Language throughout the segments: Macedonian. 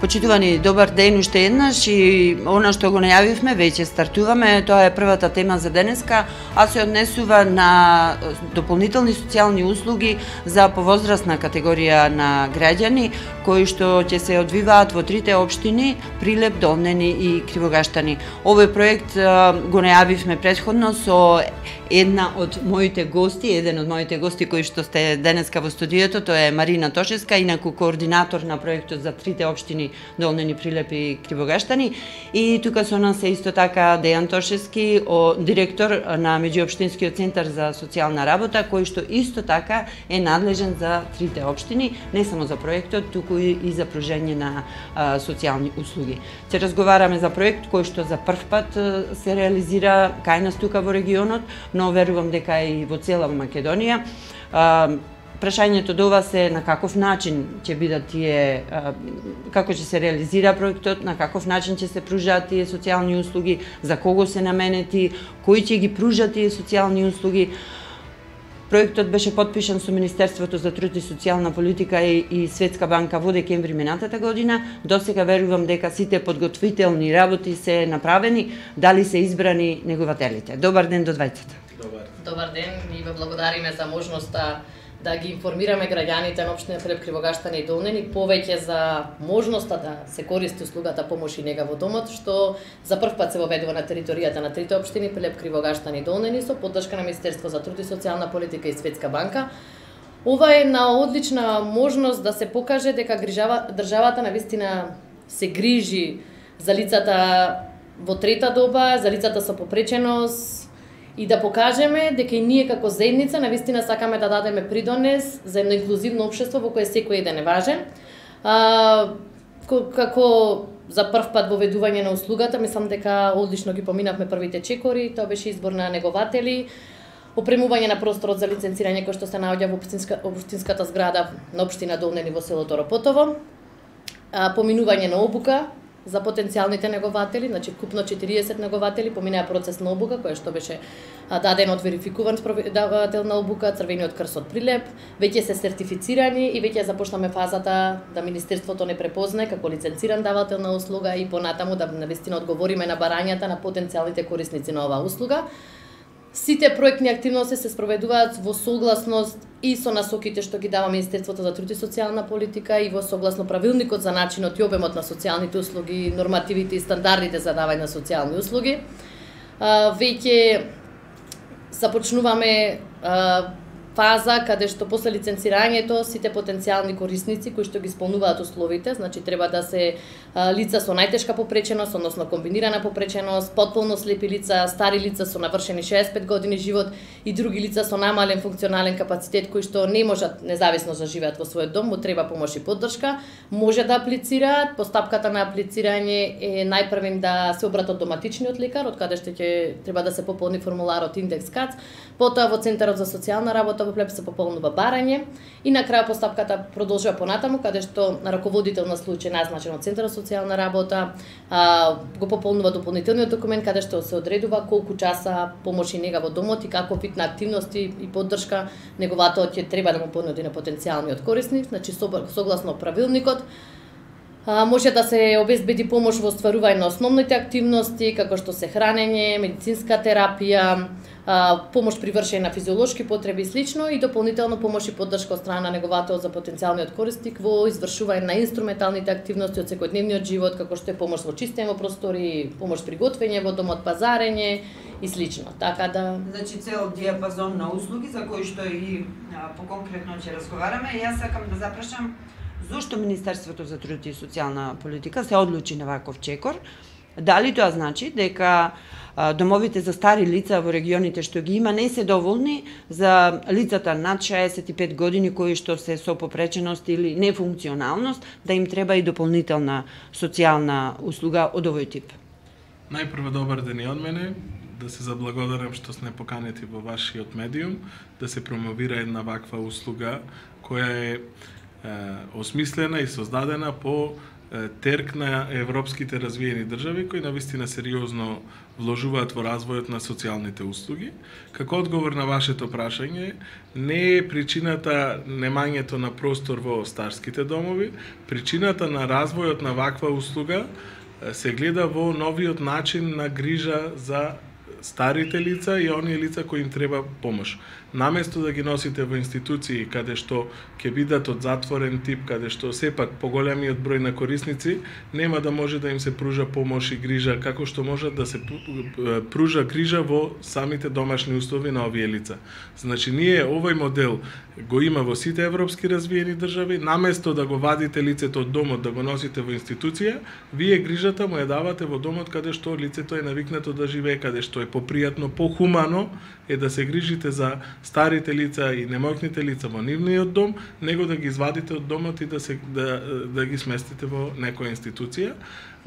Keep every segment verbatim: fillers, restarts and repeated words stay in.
Почитувани, добар ден уште еднаш, и она што го најавивме, веќе стартуваме, тоа е првата тема за денеска, а се однесува на дополнителни социјални услуги за повозрастна категорија на граѓани, кои што ќе се одвиваат во трите општини Прилеп, Долнени и Кривогаштани. Овој проект го најавивме претходно со една од моите гости, еден од моите гости кои што сте денеска во студиото, тоа е Марина Тошевска, инаку координатор на проектот за трите општини Долнени, Прилеп и Кривогаштани. И тука со нас е исто така Дејан Тошевски, директор на Меѓуопштинскиот центар за социјална работа, кој што исто така е надлежен за трите општини, не само за проектот, туку и за пружење на а, социјални услуги. Ќе разговараме за проект кој што за прв пат се реализира кај нас тука во регионот, но верувам дека и во цела Македонија. А, Прашањето до вас е на каков начин ќе бидат тие, како ќе се реализира проектот, на каков начин ќе се пружаат тие социјални услуги, за кого се наменети, кои ќе ги пружат тие социјални услуги. Проектот беше подпишан со Министерството за труд и социјална политика и, и Светска банка во декември минатата година. До сега верувам дека сите подготвителни работи се направени, дали се избрани негователите. Добар ден до двајцата. Добар. Добар ден и ве благодариме за можноста да ги информираме граѓаните на општина Прилеп, Кривогаштани и Долнени повеќе за можноста да се користи услугата помош и нега во домот, што за прв пат се воведува на територијата на трите општини Прилеп, Кривогаштани и Долнени со поддршка на Министерство за труд и социјална политика и Светска банка. Ова е една одлична можност да се покаже дека грижава, државата навистина се грижи за лицата во трета доба, за лицата со попреченост, и да покажеме дека и ние како заедница навистина сакаме да дадеме придонес за едно инклузивно општество во кое секој еден е важен. А, како за прв пат воведување на услугата, мислам дека одлично ги поминавме првите чекори, тоа беше избор на негователи, опремување на просторот за лиценцирање кој што се наоѓа во општинска, општинската зграда на општина Долнени во селото Ропотово, а, поминување на обука за потенцијалните негователи, значи купно четириесет негователи поминаа процес на обука, која што беше даден од верификуван спроведавател на обука, Црвениот крст од Прилеп, веќе се сертифицирани и веќе започнаме фазата да Министерството не препознае како лиценциран давател на услуга и понатаму да навистина одговориме на барањата на потенцијалните корисници на оваа услуга. Сите проектни активности се спроведуваат во согласност и со насоките што ги дава Министерството за труд и социјална политика и во согласно правилникот за начинот и обемот на социјалните услуги, нормативите и стандардите за давање на социјални услуги. А, веќе започнуваме а, фаза каде што после лиценцирањето сите потенцијални корисници кои што ги исполнуваат условите, значи треба да се а, лица со најтешка попреченост, односно комбинирана попреченост, потполно слепи лица, стари лица со навршени шеесет и пет години живот и други лица со намален функционален капацитет кои што не можат независно да живеат во својот дом, му треба помош и поддршка, може да аплицираат. Постапката на аплицирање е најпрвен да се обратат до матичниот лекар, од каде што ќе треба да се пополни формуларот индекс КАЦ, потоа во Центарот за социјална работа во Прилеп се пополнува барање и на крај постапката продолжува понатаму каде што раководител на случај назначен од Центарот за социјална работа а, го пополнува дополнителниот документ каде што се одредува колку часа помош и нега во домот и каков вид на активности и поддршка негователот ќе треба да му понуди на потенцијалниот корисник, значи согласно правилникот. А, може да се обезбеди помош во остварување на основните активности, како што се хранење, медицинска терапија, а, помош при вршење на физиолошки потреби и слично и дополнително помош и поддршка од страна на неговател за потенцијалниот корисник во извршување на инструменталните активности од секојдневниот живот, како што е помош во чистење во простори, помош при готвење во домот, пазарење и слично. Така да, значи цел диапазон на услуги за кои што и а, поконкретно ќе разговараме. Јас сакам да запрашам зошто Министерството за труд и социјална политика се одлучи на ваков чекор? Дали тоа значи дека домовите за стари лица во регионите што ги има не се доволни за лицата над шеесет и пет години кои што се со попреченост или нефункционалност, да им треба и дополнителна социјална услуга од овој тип? Најпрво добар ден и од мене, да се заблагодарам што сте поканети во вашиот медиум, да се промовира една ваква услуга која е осмислена и создадена по терк на европските развиени држави кои навистина сериозно вложуваат во развојот на социјалните услуги. Како одговор на вашето прашање, не е причината немањето на простор во старските домови, причината на развојот на ваква услуга се гледа во новиот начин на грижа за старите лица и оние лица кои им треба помош. Наместо да ги носите во институции каде што ќе бидат од затворен тип, каде што сепак поголемиот број на корисници нема да може да им се пружа помош и грижа како што можат да се пружа грижа во самите домашни услови на овие лица. Значи ние овој модел го има во сите европски развиени држави, наместо да го вадите лицето од домот да го носите во институција, вие грижата му ја давате во домот каде што лицето е навикнато да живее, каде што е попријатно, похумано е да се грижите за старите лица и немоќните лица во нивниот дом, него да ги извадите од домот и да се да, да ги сместите во некоја институција.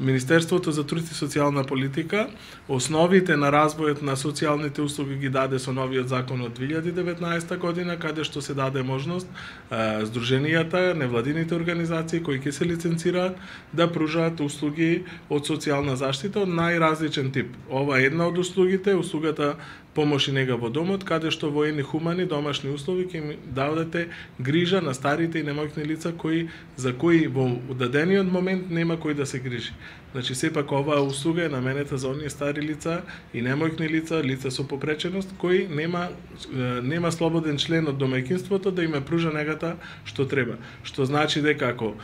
Министерството за труд и социјална политика основите на развојот на социјалните услуги ги даде со новиот закон од две илјади и деветнаесета година, каде што се даде можност а, здруженијата, невладините организации кои ќе се лиценцираат да пружаат услуги од социјална заштита од најразличен тип. Ова е една од услугите, услугата помош и нега во домот, каде што во едни хумани домашни услови ќе им дадете грижа на старите и немоќни лица кои за кои во дадениот момент нема кој да се грижи. Значи сепак оваа услуга е наменета за оние стари лица и немоќни лица, лица со попреченост кои нема нема слободен член од домаќинството да им ја пружа негата што треба. Што значи дека ако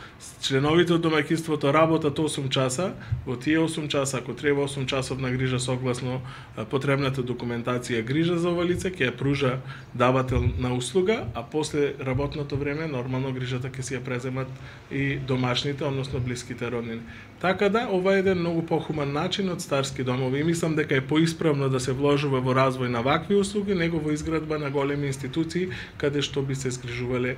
членовите од домаќинството работат осум часа, во тие осум часа ако треба осум часовна грижа согласно потребната документација грижа за ова лице ќе ја пружа давател на услуга, а после работното време нормално грижата ќе си ја преземат и домашните, односно блиските роднини. Така да, ова е еден многу похуман начин од старски домови и мислам дека е поисправно да се вложува во развој на вакви услуги, него во изградба на големи институции каде што би се згрижувале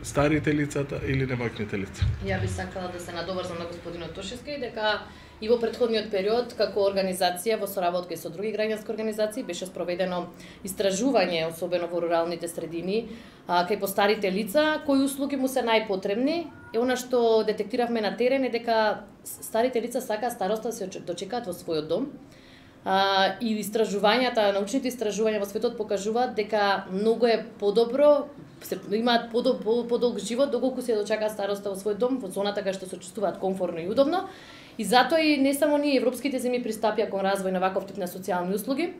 старите лицата или немоќните лица. Ја би сакала да се надоврзам на господинот Тошевски дека и во претходниот период како организација во соработка и со други граѓански организации беше спроведено истражување, особено во руралните средини, а, кај постарите лица, кои услуги му се најпотребни. Е она што детектиравме на терен е дека старите лица сакаат староста да се дочекаат во својот дом. А, и истражувањата, научните истражувања во светот покажуваат дека многу е подобро, се имаат подоб, подолг живот доколку се дочекаат староста во својот дом, во зоната кај што се чувствуваат комфортно и удобно. И затоа и не само ние европските земји пристапија кон развој на ваков тип на социјални услуги.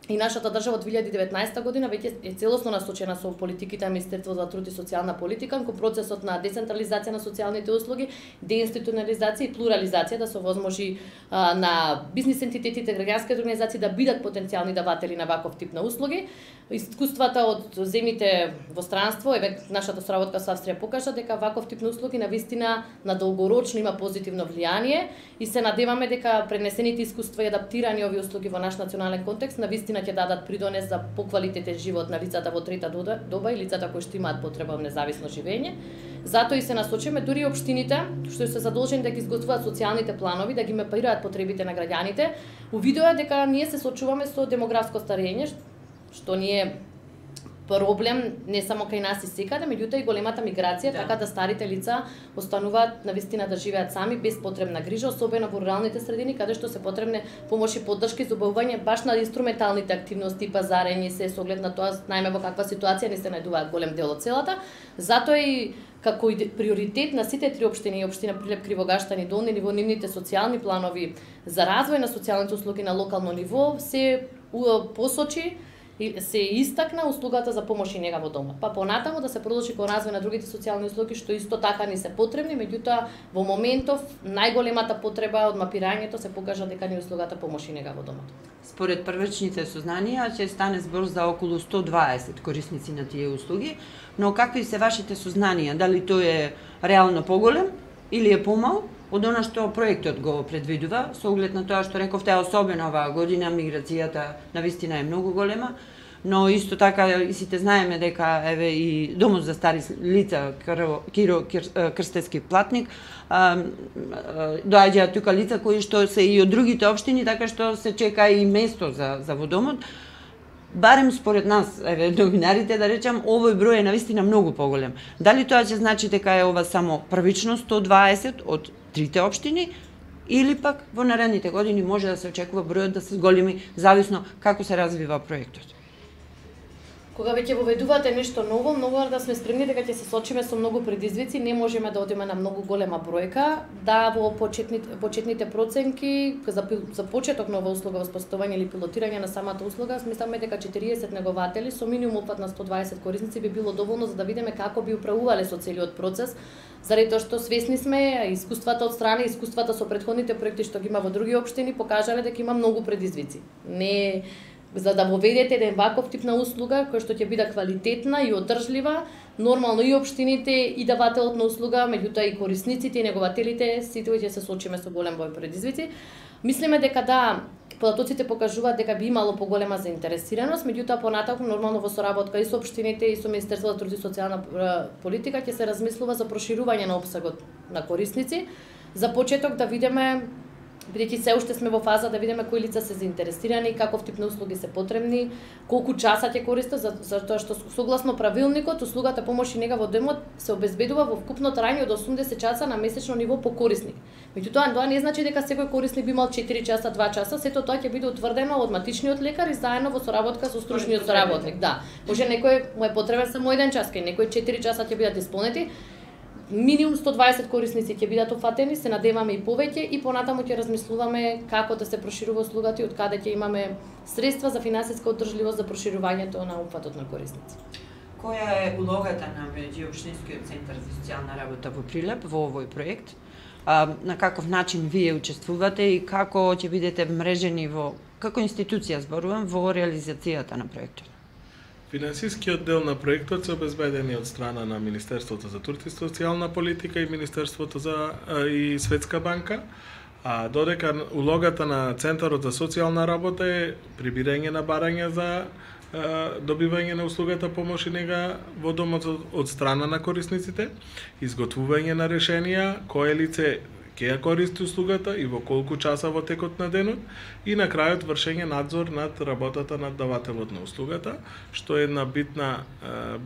И нашата држава од две илјади и деветнаесета година веќе е целосно насочена со политиките на Министерството за труд и социјална политика кон процесот на децентрализација на социјалните услуги, деинституционализација и плурализација, да се овозможи а, на бизнис ентитетите, граѓанските организации да бидат потенцијални даватели на ваков тип на услуги. Искуствата од земјите во странство, еве нашата соработка со Австрија покажа дека ваков тип на услуги навистина на долгорочно има позитивно влијание и се надеваме дека пренесените искуства и адаптирани овие услуги во наш национален контекст навистина ќе дадат придонес за поквалитетен живот на лицата во трета доба и лицата кои што имаат потреба од независно живење. Затоа и се насочиме дури и општините што се задолжени да ги изготвуваат социјалните планови, да ги мапираат потребите на граѓаните. Увидува дека ние се соочуваме со демографско старење, што ни е проблем не само кај нас и секаде, меѓутоа и големата миграција, да. Така да старите лица остануваат навистина да живеат сами без потребна грижа, особено во руралните средини каде што се потребне помош и поддршка и забавување баш на инструменталните активности, пазарење, се со оглед на тоа најме во каква ситуација не се најдуваат голем дел од селата. Затоа и како и приоритет на сите три општини и општина Прилеп, Кривогаштан и Долни ниво нивните социјални планови за развој на социјалните услуги на локално ниво се посочи и се истакна услугата за помош и нега во домот. Па понатаму да се продолжи кон развој на другите социјални услуги што исто така ни се потребни, меѓутоа во моментов најголемата потреба од мапирањето се покажа дека ни услугата помош и нега во домот. Според првичните сознанија ќе стане збор за околу сто дваесет корисници на тие услуги, но какви се вашите сознанија? Дали тој е реално поголем или е помал од она што проектот го предвидува, со оглед на тоа што рековте, особено оваа година миграцијата навистина е многу голема, но исто така и сите знаеме дека еве и домот за стари лица Киро Крстевски Платник доаѓаат тука лица кои што се и од другите општини, така што се чека и место за за во домот. барем според нас, еве новинарите да речам, овој број е навистина многу поголем. Дали тоа ќе значи дека е ова само првично сто дваесет од трите општини, или пак во наредните години може да се очекува бројот да се зголеми, зависно како се развива проектот? Кога веќе воведувате нешто ново, многу да сме спремни дека ќе се сочиме со многу предизвици, не можеме да одиме на многу голема бројка, да во почетните, почетните проценки за, за почеток нова услуга, воспоставување или пилотирање на самата услуга, смисламе дека четириесет негователи со минимум опфат на сто дваесет корисници би било доволно за да видиме како би управувале со целиот процес, заради тоа што свесни сме, искуствата од страна, искуствата со претходните проекти што ги има во други општини покажале дека има многу предизвици. Не за да воведете еден ваков тип на услуга која што ќе биде квалитетна и одржлива, нормално и општините и давателот на услуга, меѓутоа и корисниците и негователите, сите ќе се сочиме со голем број предизвици. Мислиме дека да, податоците покажуваат дека би имало поголема заинтересираност, меѓутоа понатаму нормално во соработка и со општините и со Министерството за труд и социјална политика ќе се размислува за проширување на опсегот на корисници. За почеток да видиме, бидејќи се уште сме во фаза да видиме кои лица се заинтересирани, каков тип на услуги се потребни, колку часа ќе користат, затоа што согласно правилникот услугата помош и нега во домот се обезбедува во вкупно трајање од осумдесет часа на месечно ниво по корисник. Меѓутоа тоа не значи дека секој корисник би имал четири часа, два часа, сето тоа ќе биде утврдено од матичниот лекар и заедно во соработка со стручниот соработник. Да, може некој му е потребен само еден час, кај некој четири часа ќе бидат исполнети. Минимум сто дваесет корисници ќе бидат офатени, се надеваме и повеќе и понатаму ќе размислуваме како да се проширува услугата и од каде ќе имаме средства за финансиска одржливост за проширувањето на опфатот на корисници. Која е улогата на Меѓуопштинскиот центар за социјална работа во Прилеп во овој проект? А, на каков начин вие учествувате и како ќе бидете вмрежени во, како институција зборувам, во реализацијата на проектот? Финансискиот дел на проектот се обезбедени од страна на Министерството за труд и социјална политика и Министерството за и Светска банка, а додека улогата на Центарот за социјална работа е прибирање на барања за добивање на услугата помош и нега во домот од страна на корисниците, изготвување на решенија кое лице ќе ја користи услугата и во колку часа во текот на денот и на крајот вршење надзор над работата на давателот на услугата, што е една битна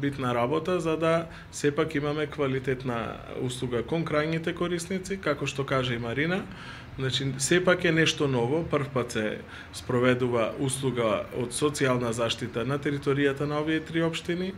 битна работа за да сепак имаме квалитетна услуга кон крајните корисници, како што кажа и Марина. Значи, сепак е нешто ново, прв пат се спроведува услуга од социјална заштита на територијата на овие три општини.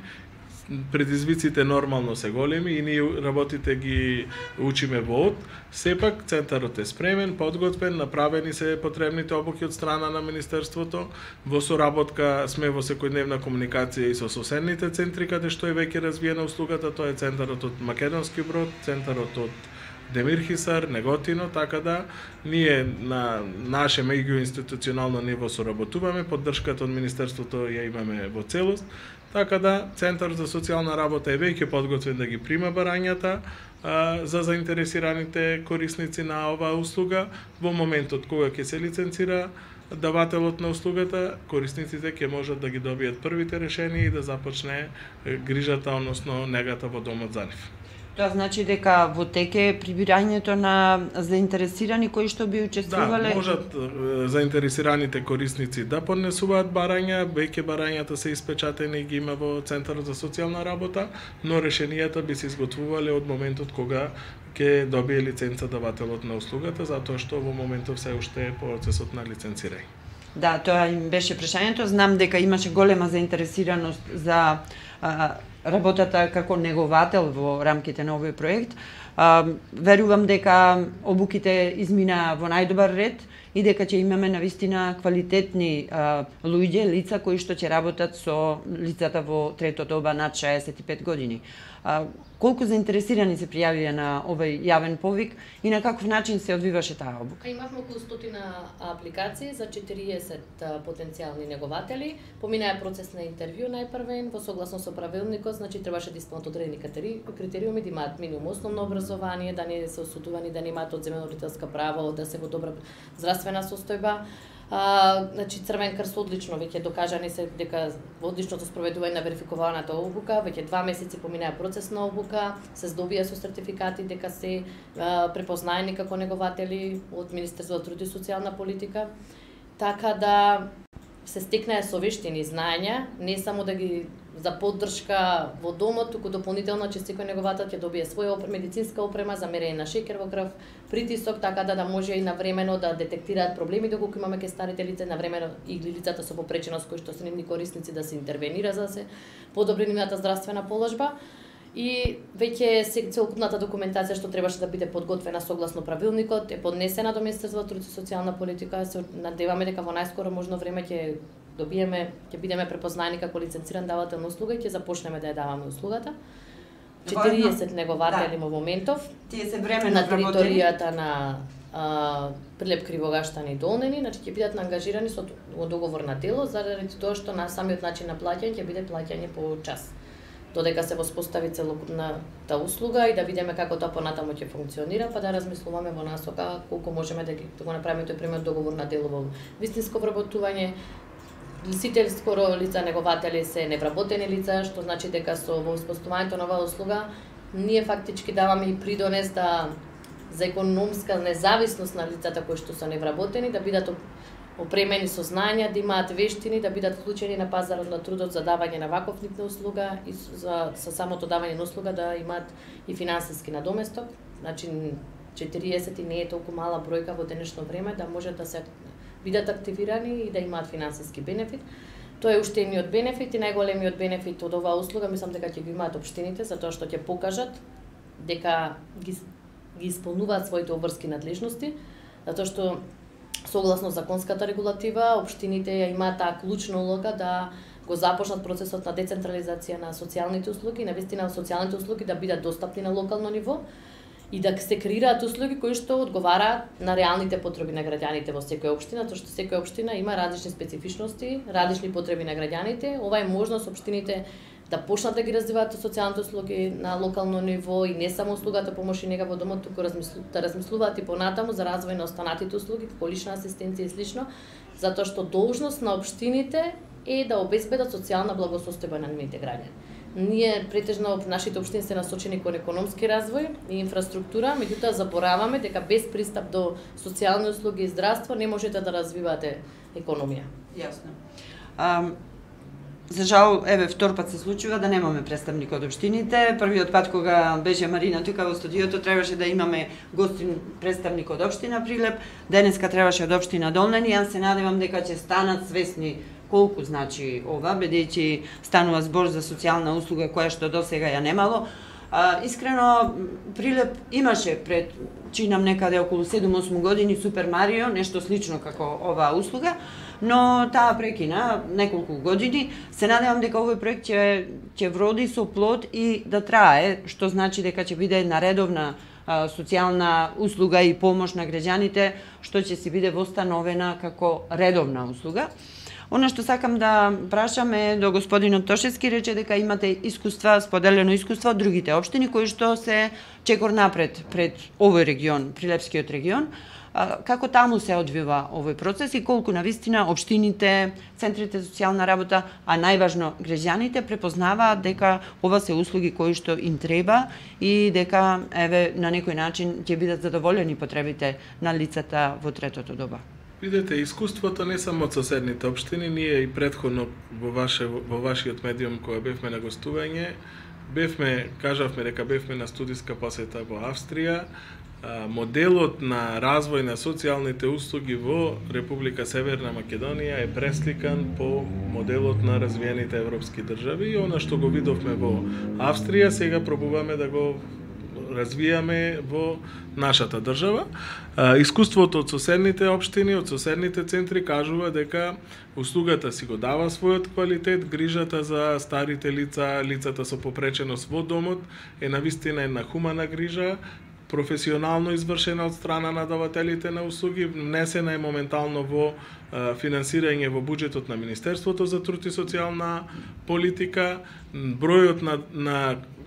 Предизвиците нормално се големи и ние работите ги учиме во од. Сепак, центарот е спремен, подготвен, направени се потребните обуки од страна на Министерството. Во соработка сме во секојдневна комуникација и со соседните центри, каде што е веќе развиена услугата. Тоа е центарот од Македонски Брод, центарот од Демирхисар, Неготино, така да ние на наше меѓуинституционално ниво соработуваме, поддршката од Министерството ја имаме во целост. Така да, Центарот за социјална работа е веќе подготвен да ги прима барањата а, за заинтересираните корисници на оваа услуга. Во моментот кога ќе се лиценцира давателот на услугата, корисниците ќе можат да ги добијат првите решенија и да започне грижата, односно негата во домот за нив. Тоа значи дека во теке прибирањето на заинтересирани кои што би учествувале? Да, можат заинтересираните корисници да поднесуваат барања, веќе барањата се испечатени и ги има во Центарот за социјална работа, но решенијата би се изготвувале од моментот кога ќе добие лиценца давателот на услугата, затоа што во моментов се уште е процесот на лиценцирање. Да, тоа им беше прашањето. Знам дека имаше голема заинтересираност за а, работата како неговател во рамките на овој проект. А, верувам дека обуките измина во најдобар ред и дека ќе имаме навистина квалитетни а, луѓе, лица кои што ќе работат со лицата во трето доба над шеесет и пет години. А, колку заинтересирани се пријавија на овој јавен повик и на каков начин се одвиваше таа обука? Имавме околу стотина апликации за четириесет потенцијални негователи. Поминаа процес на интервју најпрвен, во согласно со правилникот, значи требаше да исполнат одредени критериуми, да имаат минимум основно образование, да не се осудувани, да не имаат одземено родителска право, да се во добра здравствена состојба. А, значи Црвен крст одлично веќе докажани се дека во одличното спроведување на верификуваната обука, веќе два месеци поминаа процес на обука, се здобија со сертификати дека се а, препознаени како негователи од Министерството за труд и социјална политика. Така да се стекнае со вештини знаења, не само да ги за поддршка во домот, туку дополнително че секој неговател ќе добие своја опрема, медицинска опрема за мерење на шеќер во крв, притисок, така да да може и навремено да детектираат проблеми доколку имаме ке старите лица, навремено и лицата со попреченост кои што се нивни корисници да се интервенира за да се подобри нивната здравствена положба. И веќе целокупната документација што требаше да биде подготвена согласно правилникот е поднесена до Министерството за труд и социјална политика. Се надеваме дека во најскоро можно време ќе добиеме, ќе бидеме препознаени како лиценциран давател на услуга и ќе започнеме да ја даваме услугата. четириесет негователи во моментов. Тие се временно на територијата на а, Прилеп, Кривогаштани и Долнени, значи ќе бидат ангажирани со договор на дело заради тоа што на самиот начин на плаќање ќе биде плаќање по час. Додека се воспостави целокупната услуга и да видиме како тоа понатаму ќе функционира, па да размислуваме во насока колку можеме да го направиме тој пример договор на дело во вистинско вработување. Сите скоро лица негователи се невработени лица, што значи дека со воспоставувањето на оваа услуга ние фактички даваме и придонес да за економска независност на лицата кои што се невработени, да бидат опремени со знања, да имаат вештини, да бидат вклучени на пазарот на трудот за давање на ваков вид на услуга и за, за самото давање на услуга да имаат и финансиски надоместок. Значи четириесет не е толку мала бројка во денешно време да можат да се бидат активирани и да имаат финансиски бенефит. Тоа е уште едниот бенефит и најголемиот бенефит од оваа услуга, мислам дека ќе го имаат општините, затоа што ќе покажат дека ги, ги исполнуваат своите обврски надлежности, затоа што согласно законската регулатива, општините ја имаат таа клучна улога да го започнат процесот на децентрализација на социјалните услуги, навистина социјалните услуги да бидат достапни на локално ниво и да се креираат услуги кои што одговараат на реалните потреби на граѓаните во секоја општина, тоа што секоја општина има различни специфичности, различни потреби на граѓаните. Ова е можност општините да почнат да ги развиваат социјалните услуги на локално ниво и не само услугата помош и нега во домот, туку размислу, да размислуваат и понатаму за развој на останатите услуги, како лична асистенција и слично, затоа што должност на општините е да обезбедат социјална благосостојба на нивните граѓани. Ние претежно нашите општини се насочени кон економски развој и инфраструктура, меѓутоа забораваме дека без пристап до социјални услуги и здравство не можете да развивате економија. Јасно. А, за жал, еве втор пат се случува да немаме представник од општините. Првиот пат кога беше Марина тука во студиото требаше да имаме гостин представник од општина Прилеп, денеска требаше од општина Долнени. Јас се надевам дека ќе станат свесни колку значи ова, бидејќи станува збор за социјална услуга која што досега ја немало. А, искрено, Прилеп имаше пред, чинам некаде околу седум-осум години Супер Марио, нешто слично како оваа услуга, но таа прекина неколку години. Се надевам дека овој проект ќе ќе вроди со плод и да трае, што значи дека ќе биде една редовна а, социјална услуга и помош на граѓаните, што ќе си биде востановена како редовна услуга. Она што сакам да прашам е до господинот Тошевски, рече дека имате искуства, споделено искуство од другите општини кои што се чекор напред пред овој регион, Прилепскиот регион. Како таму се одвива овој процес и колку навистина општините, центрите за социјална работа, а најважно граѓаните препознаваат дека ова се услуги кои што им треба и дека еве на некој начин ќе бидат задоволени потребите на лицата во третото доба. Видете, искуството не само од соседните општини, ние и претходно во, ваше, во вашиот медиум која бевме на гостување, бевме, кажавме дека бевме на студиска посета во Австрија. Моделот на развој на социјалните услуги во Република Северна Македонија е пресликан по моделот на развиените европски држави и она што го видовме во Австрија, сега пробуваме да го развијаме во нашата држава. Искуството од соседните општини, од соседните центри кажува дека услугата си го дава својот квалитет, грижата за старите лица, лицата со попреченост во домот е навистина една хумана грижа, професионално извршена од страна на давателите на услуги, внесена е моментално во финансирање во буџетот на Министерството за труд и социјална политика, бројот на, на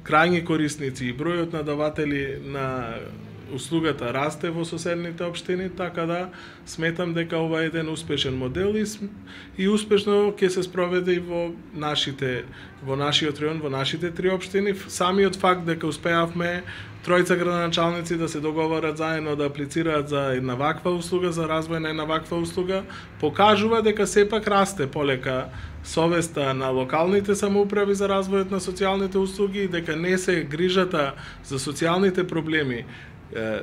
крајни корисници и бројот на даватели на услугата расте во соседните општини, така да сметам дека ова е еден успешен модел и, и успешно ќе се спроведе и во нашите во нашиот район, во нашите три општини. Самиот факт дека успеавме тројца градоначалници да се договорат заедно да аплицираат за една ваква услуга, за развој на една ваква услуга, покажува дека сепак расте полека совеста на локалните самоуправи за развојот на социјалните услуги и дека не се грижата за социјалните проблеми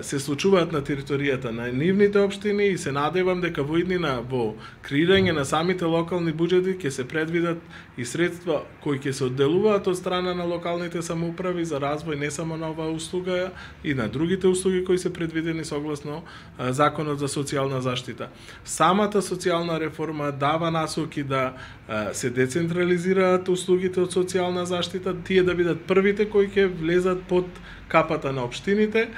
се случуваат на територијата на нивните општини и се надевам дека во иднина во креирање на самите локални буџети ќе се предвидат и средства кои ќе се одделуваат од страна на локалните самоуправи за развој не само на оваа услуга и на другите услуги кои се предвидени согласно Законот за социјална заштита. Самата социјална реформа дава насоки да се децентрализираат услугите од социјална заштита, тие да бидат првите кои ќе влезат под капата на општините,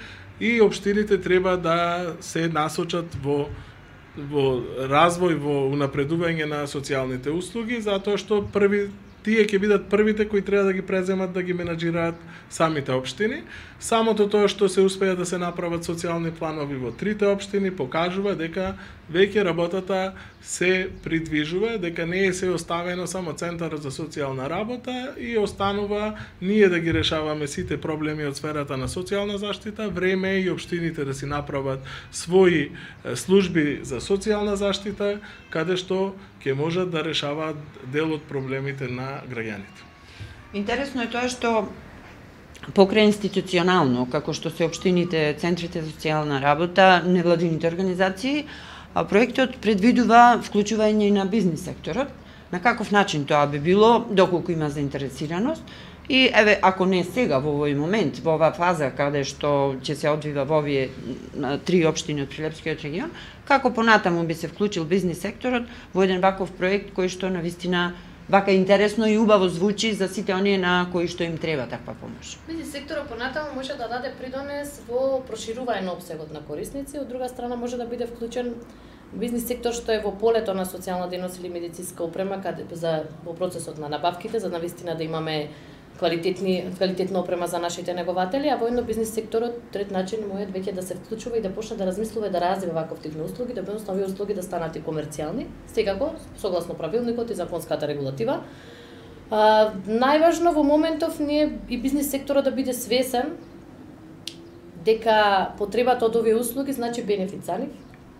и општините треба да се насочат во во развој, во унапредување на социјалните услуги, затоа што први тие ќе бидат првите кои треба да ги преземат да ги менаџираат самите општини. Самото тоа што се успеа да се направат социјални планови во трите општини покажува дека веќе работата се придвижува, дека не е се оставено само Центарот за социјална работа и останува ние да ги решаваме сите проблеми од сферата на социјална заштита. Време е и општините да си направат своји служби за социјална заштита, каде што ќе можат да решаваат дел од проблемите на граѓаните. Интересно е тоа што покрај институционално, како што се општините, центрите за социјална работа, невладините организации, проектот предвидува вклучување и на бизнис секторот. На каков начин тоа би било, доколку има заинтересираност? И еве, ако не сега во овој момент, во оваа фаза каде што ќе се одвива во овие три општини од Прилепскиот регион, како понатаму би се вклучил бизнис секторот во еден ваков проект кој што навистина вака интересно и убаво звучи за сите оние на кои што им треба таква помош. Бизнис секторот понатаму може да даде придонес во проширување на опсегот на корисници, од друга страна може да биде вклучен бизнис сектор што е во полето на социјална дејност или медицинска опрема каде за во процесот на набавките за навистина да имаме квалитетни квалитетна опрема за нашите негователи, а воедно бизнис секторот трет начин мојот веќе да се вклучува и да почне да размислува и да развива ваков тип на услуги, да бидат овие услуги да станат и комерцијални, секако согласно правилникот и законската регулатива. А, најважно во моментов ние и бизнис секторот да биде свесен дека потребата од овие услуги значи бенефит за нив,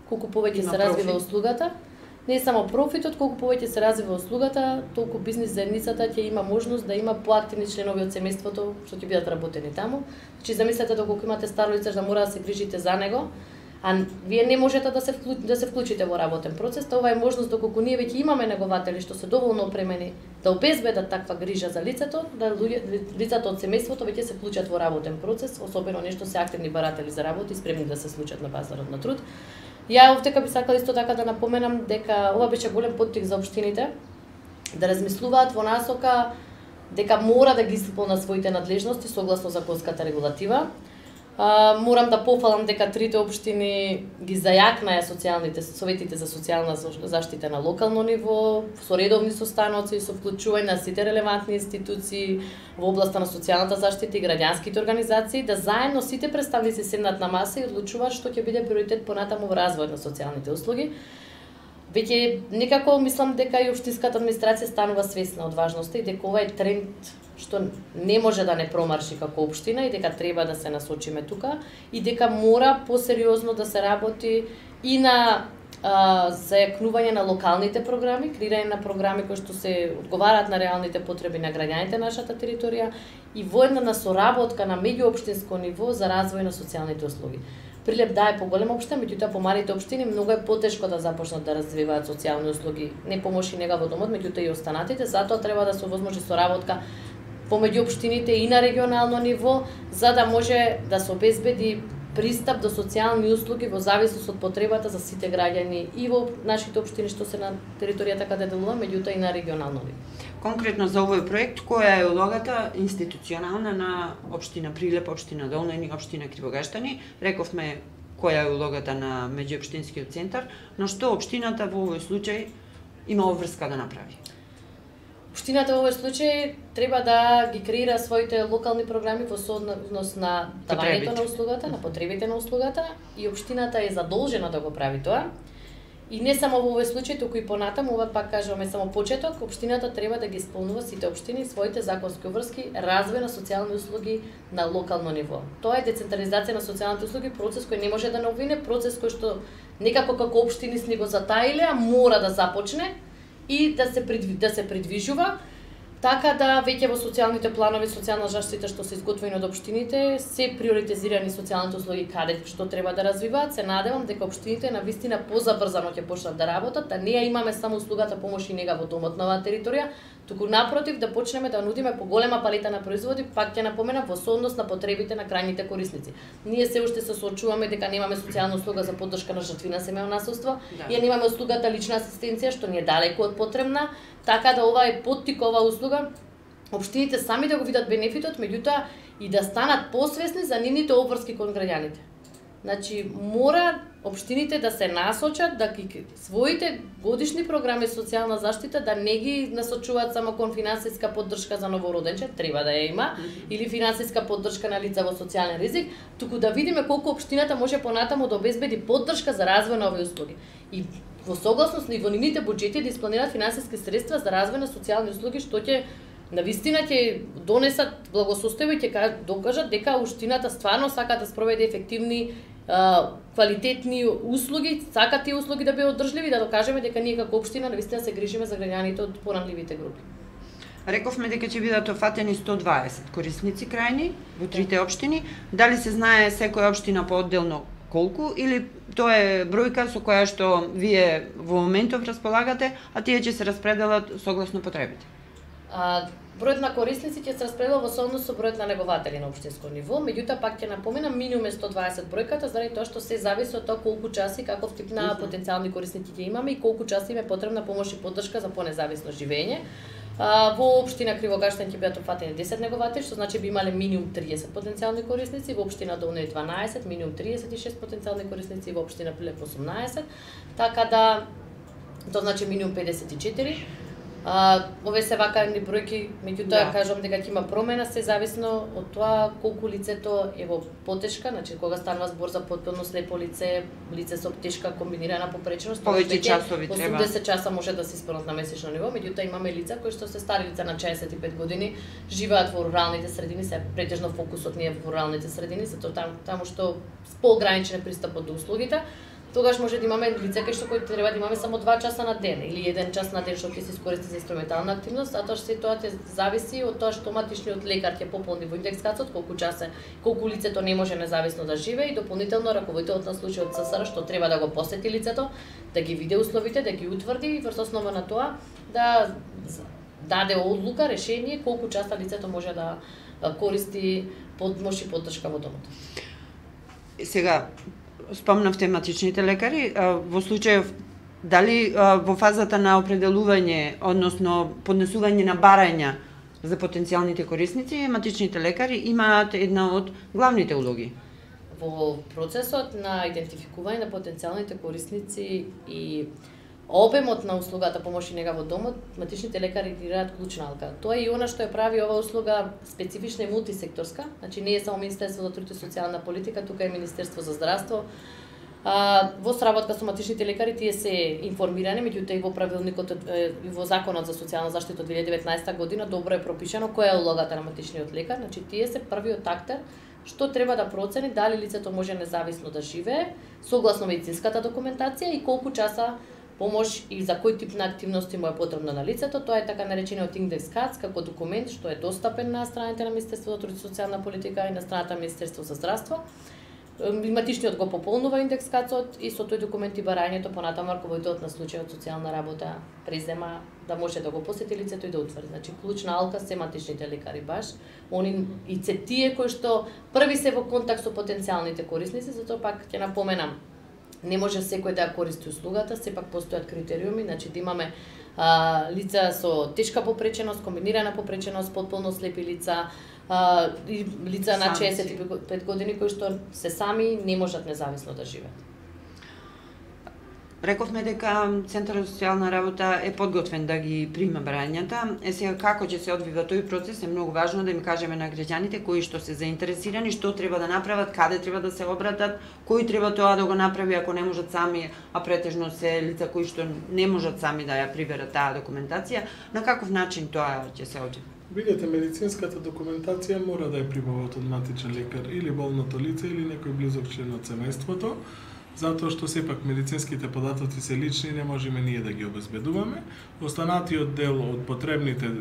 колку повеќе се развива услугата. Не само профитот, колку повеќе се развива услугата, толку бизнис заедницата ќе има можност да има поактивни членови од семејството што ќе бидат работени таму. Значи замислете доколку имате старо лице да мора да се грижите за него, а вие не можете да се вклучите, да се вклучите во работен процес, тоа ова е можност доколку ние веќе имаме негователи што се доволно опремени да обезбедат таква грижа за лицето, да лицата од семејството веќе се вклучат во работен процес, особено нешто се активни баратели за работа и спремни да се случат на пазарот на труд. Ја овдека би сакала исто така да напоменам дека ова беше голем поттик за општините да размислуваат во насока дека мора да ги исполнат своите надлежности согласно законската регулатива. А, морам да пофалам дека трите општини ги зајакнаа социјалните советите за социјална заштита на локално ниво, со редовни состаноци, со вклучување на сите релевантни институции во областа на социјалната заштита и граѓанските организации, да заедно сите представници седнат на маса и одлучуваат што ќе биде приоритет понатаму во развојот на социјалните услуги. Веќе некако мислам дека и општинската администрација станува свесна од важноста и дека ова е тренд што не може да не промарши како општина и дека треба да се насочиме тука и дека мора посериозно да се работи и на а, зајакнување на локалните програми, креирање на програми кои што се одговараат на реалните потреби на граѓаните на нашата територија и воедна на соработка на меѓуопштинско ниво за развој на социјалните услуги. Прилеп да е поголема општина, меѓутоа по малите општини многу е потешко да започнат да развиваат социјални услуги. Не помоши нега во домот, меѓутоа и останатите, затоа треба да се овозможи соработка помеѓу општините и на регионално ниво, за да може да се обезбеди пристап до социјални услуги во зависност од потребата за сите граѓани и во нашите општини што се на територијата каде делуваме, меѓутоа и на регионално ниво. Конкретно за овој проект, која е улогата институционална на општина Прилеп, општина Долна и општина Кривогаштани? Рековме која е улогата на меѓуопштинскиот центар, но што општината во овој случај има обврска да направи? Општината во овој случај треба да ги креира своите локални програми во сооднос на давањето на услугата, на потребите на услугата, и општината е задолжена да го прави тоа. И не само во овој случај, туку и понатаму, ова пак кажуваме само почеток, општината треба да ги исполнува сите општини своите законски обврски, развој на социјални услуги на локално ниво. Тоа е децентрализација на социјалните услуги, процес кој не може да не обвине, процес кој што некако како општини сни го затаиле, а мора да започне и да се придви, да се придвижува, така да веќе во социјалните планови, социјална заштита што се изготвени од општините, се приоритизирани социјалните услуги каде што треба да развиваат. Се надевам дека општините навистина позабрзано ќе почнат да работат, да не ја имаме само услугата помош и нега во домот на оваа територија, туку напротив да почнеме да нудиме поголема палета на производи, пак ќе напоменам, во сооднос на потребите на крајните корисници. Ние се уште се соочуваме дека немаме социјална услуга за поддршка на жртви на семејно насилство, да. И немаме услугата лична асистенција што ни е далеку од потребна, така да ова е поттик, ова услуга, општините сами да го видат бенефитот, меѓутоа и да станат посвесни за нивните обврски кон граѓаните. Значи, мора општините да се насочат, да ги своите годишни програми социјална заштита да не ги насочуваат само кон финансиска поддршка за новороденче, треба да ја има, или финансиска поддршка на лица во социјален ризик, туку да видиме колку општината може понатаму да обезбеди поддршка за развој на овие услуги. И во согласност и во нивните буџети да испланираат финансиски средства за развој на социјални услуги, што ќе навистина ќе донесат благосостојба и ќе докажат дека општината стварно сака да спроведе ефективни, квалитетни услуги, сака тие услуги да бидат одржливи, да докажеме дека ние како општина навистина се грижиме за граѓаните од поранливите групи. Рековме дека ќе бидат офатени сто дваесет корисници крајни во трите општини. Дали се знае секоја општина поодделно колку, или тоа е бројка со која што вие во моментов располагате, а тие ќе се распределат согласно потребите? А, бројот на корисници ќе се распредела во сооднос со бројот на негователи на општинско ниво, меѓутоа пак ќе напоменам минимум е сто дваесет бројката, заради тоа што се зависи од тоа колку часи, каков тип на потенцијални корисници ќе имаме и колку часи им е потребна помош и поддршка за понезависно живење. А, во општина Кривогаштан ќе бидат опфатени десет негователи, што значи би имале минимум триесет потенцијални корисници, во општина Долни дванаесет, минимум триесет и шест потенцијални корисници, во општина Прилеп осумнаесет, така да тоа значи минимум педесет и четири. А, овие се вакани бројки, меѓутоа да. Кажам дека ќе има промена, се зависно од тоа колку лицето е во потешка, значи кога станува збор за потполно слепо лице, лице со тешка комбинирана попреченост, повеќе часови треба. осумдесет часа може да се исполнат на месечно ниво, меѓутоа имаме лица кои што се стари лица на шеесет и пет години, живеат во руралните средини, се претежно фокусот ни е во руралните средини, затоа таму, таму што поограничен пристапот до услугите. Тогаш може да имаме лица кои што кои треба да имаме само два часа на ден или еден час на ден што ќе се искористи за инструментална активност, затоа што се тоа ќе зависи од тоа што матичниот лекар ќе пополни во индекскациот колку часа, колку лицето не може независно да живее и дополнително раководителот на случајот ЦСР што треба да го посети лицето, да ги види условите, да ги утврди и врз основа на тоа да даде одлука, решение колку часа лицето може да користи помош и поддршка во домот. Сега спомнав тематичните лекари, во случајов дали во фазата на определување, односно поднесување на барања за потенцијалните корисници, тематичните лекари имаат една од главните улоги? Во процесот на идентификување на потенцијалните корисници и обемот на услугата помош и нега во домот, тематичните лекари играат клучна алка. Тоа е и она што ја прави оваа услуга специфична и мултисекторска, значи не е само Министерство за труд и социјална политика, тука е Министерство за здравство. А, во сработка со тематичните лекари тие се информирани, меѓутоа и во правилникот и во законот за социјална заштита од две илјади и деветнаесета година добро е пропишано која е улогата на тематичниот лекар, значи тие се првиот актер што треба да процени дали лицето може независно да живее согласно медицинската документација и колку часа помош и за кој тип на активности му е потребно на лицето. Тоа е така наречениот индекс КАЦ како документ што е достапен на страните на Министерството за труд и социјална политика и на страната на Министерство за здравство. Матичниот го пополнува индекс КАЦот и со тој документ и барањето понатаму раководителот на случајот социјална работа презема да може да го посети лицето и да утврди. Значи клучна алка се матичните лекари баш. Они и се тие кои што први се во контакт со потенцијалните корисници, затоа пак ќе напоменам не може секој да ја користи услугата, сепак постојат критериуми, значи да имаме а, лица со тешка попреченост, комбинирана попреченост, потполно слепи лица, а, и лица на шеесет и пет години кои што се сами не можат независно да живеат. Рековме дека Центарот за социјална работа е подготвен да ги прима барањата. Е сега како ќе се одвива тој процес е многу важно да им кажеме на граѓаните кои што се заинтересирани, што треба да направат, каде треба да се обратат, кој треба тоа да го направи ако не можат сами, а претежно се лица кои што не можат сами да ја приберат таа документација, на каков начин тоа ќе се одвива. Видете, медицинската документација мора да ја прибават од матичен лекар или болното лице или некој близок член од семејството, затоа што сепак медицинските податоци се лични, не можеме ние да ги обезбедуваме. Останатиот дел од потребните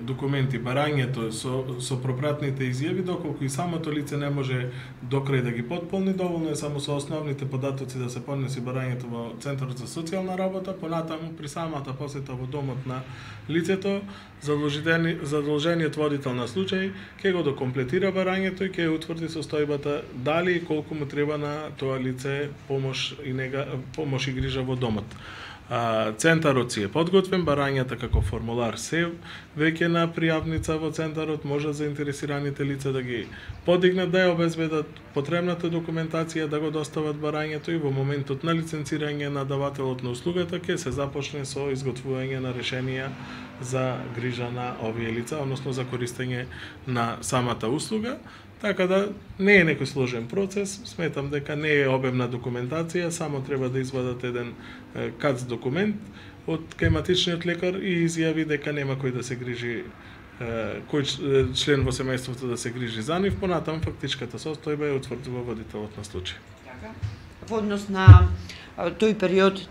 документи, барањето со, со пропратните изјави, доколку и самото лице не може до крај да ги потполни, доволно е само со основните податоци да се поднеси барањето во Центарот за социјална работа, понатаму при самата посета во домот на лицето, задолжениот водител на случај ќе го докомплетира барањето и ќе утврди состојбата дали и колку му треба на тоа лице помош и нега, помош и грижа во домот. Центарот си е подготвен, барањата како формулар се веќе на пријавница во Центарот, може заинтересираните лица да ги подигнат, да ја обезбедат потребната документација, да го достават барањето и во моментот на лиценцирање на давателот на услугата ќе се започне со изготвување на решенија за грижа на овие лица, односно за користење на самата услуга. Така да не е некој сложен процес, сметам дека не е обемна документација, само треба да извадат еден кац документ од кај матичниот лекар и изјави дека нема кој да се грижи, кој член во семејството да се грижи за нив, понатаму фактичката состојба е утврдува водителот на случај. Така. Во однос на тој период,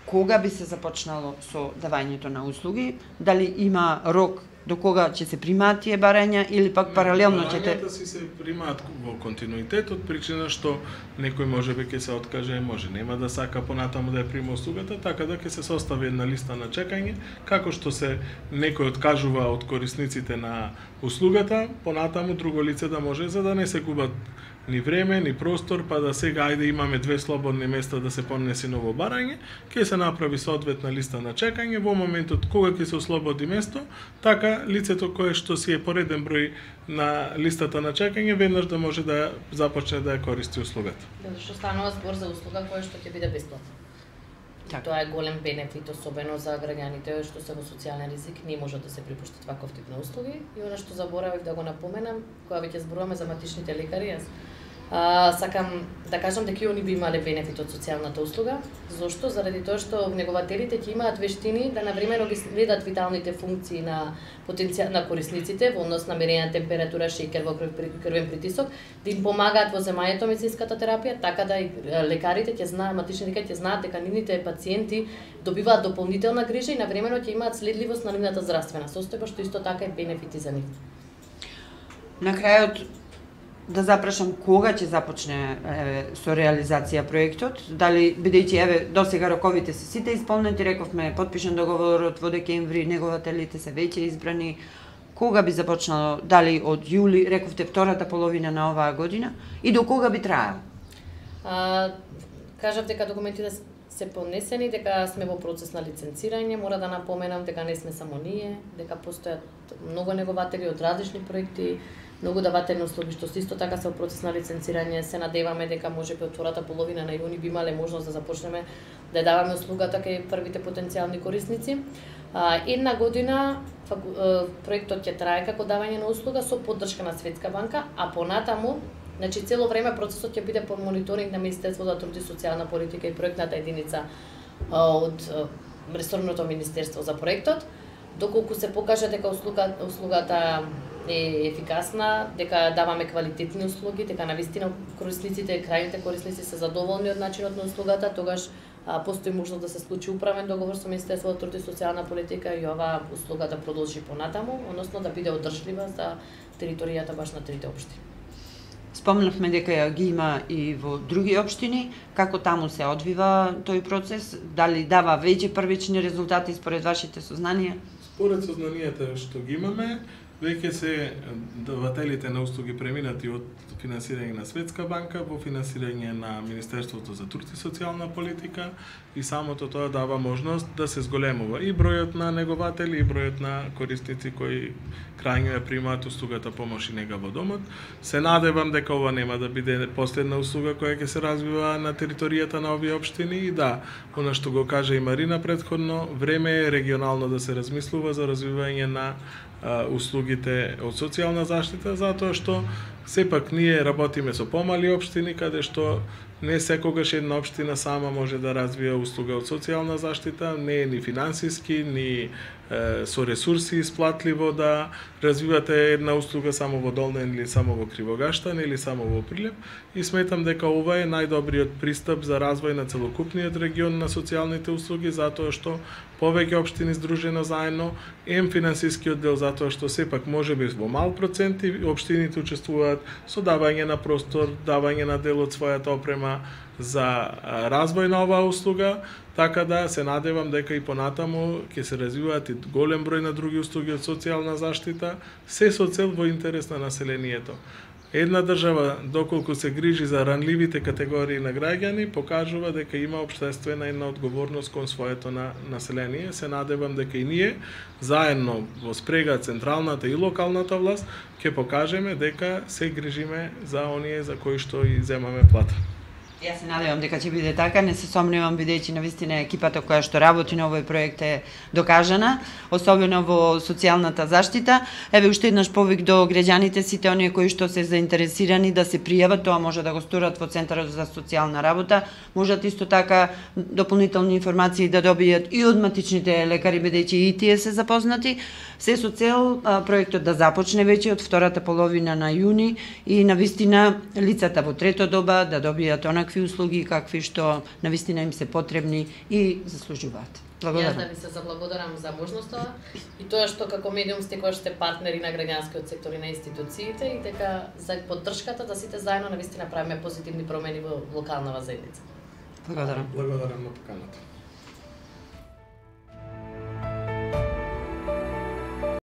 кога би се започнало со давањето на услуги, дали има рок до кога ќе се примаат тие барања или пак паралелно ќе те... Барањата си се примаат во континуитет од причина што некој можеби ќе се откаже, може нема да сака понатаму да ја прима услугата, така да ќе се состави една листа на чекање, како што се некој откажува од корисниците на услугата, понатаму друго лице да може, за да не се губат ни време, ни простор, па да сега ајде имаме две слободни места да се поднеси ново барање, ќе се направи соодветна листа на чекање, во моментот кога ќе се ослободи место, така лицето кое што си е пореден број на листата на чекање, веднаш да може да започне да ја користи услугата. Да, што станува збор за услуга која што ќе биде бесплатна. Так. Тоа е голем бенефит, особено за граѓаните што се во социјален ризик, не може да се припуштат ваков тип на услуги. И она што заборавив да го напоменам, кога веќе зборуваме за матичните лекари, јас А, сакам да кажам дека и они би имале бенефит од социјалната услуга. Зошто? Заради тоа што внегователите ќе имаат вештини да навремено ги следат виталните функции на потенцијал на корисниците во однос на мерење на температура, шеќер во крвен притисок, да им помагаат во земањето медицинската терапија, така да и лекарите ќе знаат, матични лекари ќе знаат дека нивните пациенти добиваат дополнителна грижа и навремено ќе имаат следливост на нивната здравствена состојба, што исто така е бенефити за нив. На крајот да запрашам кога ќе започне е, со реализација проектот, дали бидејќи еве досега роковите се сите исполнети, рековме подпишан договорот во декември, негователите се веќе избрани, кога би започнало, дали од јули, рековте втората половина на оваа година и до кога би траело? А, кажав дека документите се понесени, дека сме во процес на лиценцирање, мора да напоменам дека не сме само ние, дека постојат многу негователи од различни проекти, многу давателни услуги што исто така се во процес на лиценцирање. Се надеваме дека можеби од втората половина на јуни би имале можност да започнеме да ја даваме услугата кај првите потенцијални корисници. А, една година проектот ќе трае како давање на услуга со поддршка на Светска банка, а понатаму, значи цело време процесот ќе биде под мониторинг на Министерството за труд и социјална политика и проектната единица од ресорното министерство за проектот, доколку се покаже дека услуга, услугата е ефикасна, дека даваме квалитетни услуги, дека навистина корисниците, крајните корисници се задоволни од начинот на услугата, тогаш а, постои можност да се случи управен договор со Министерството за труд и социјална политика и оваа услуга да продолжи понатаму, односно да биде одржлива за територијата баш на трите општини. Спомнавме дека ја ги има и во други општини, како таму се одвива тој процес, дали дава веќе првични резултати според вашите сознанија? Според сознанието што ги имаме, веќе се давателите на услуги преминати од финансирање на Светска банка во финансирање на Министерството за труд и социјална политика и самото тоа дава можност да се зголемува и бројот на негователи и бројот на корисници кои крајно ја примаат услугата помош и нега во домот. Се надевам дека ова нема да биде последна услуга која ќе се развива на територијата на овие општини и да, она што го кажа и Марина претходно, време е регионално да се размислува за развивање на услугите од социјална заштита, затоа што сепак ние работиме со помали општини, каде што не секогаш една општина сама може да развија услуга од социјална заштита, не е ни финансиски, ни е, со ресурси исплатливо да развивате една услуга само во Долнен или само во Кривогаштан или само во Прилеп и сметам дека ова е најдобриот пристап за развој на целокупниот регион на социјалните услуги, затоа што повеќе општини здружено заедно, ем финансискиот дел затоа што сепак можеби во мал процент општините учествуваат со давање на простор, давање на дел од својата опрема за развој на оваа услуга, така да се надевам дека и понатаму ќе се развиваат и голем број на други услуги од социјална заштита, се со цел во интерес на населението. Една држава, доколку се грижи за ранливите категории на граѓани, покажува дека има општествена една одговорност кон своето на население. Се надевам дека и ние, заедно во спрега централната и локалната власт, ќе покажеме дека се грижиме за оние за кои што и земаме плата. Јас се надевам дека ќе биде така, не се сомневам бидејќи навистина екипата која што работи на овој проект е докажана, особено во социјалната заштита. Еве уште еднаш повик до граѓаните, сите оние кои што се заинтересирани да се пријават, тоа може да го сторат во Центарот за социјална работа, можат исто така дополнителни информации да добијат и од матичните лекари бидејќи и тие се запознати, се со цел а, проектот да започне веќе од втората половина на јуни и навистина лицата во трето доба да добијат онакви услуги какви што навистина им се потребни и заслужуваат. Благодарам. Јас да ви се заблагодарам за можноста и тоа што како медиум сте кои сте партнери на граѓанскиот сектор и на институциите и дека за поддршката да сите заедно навистина правиме позитивни промени во локалната заедница. Благодарам. Благодарам на поканата.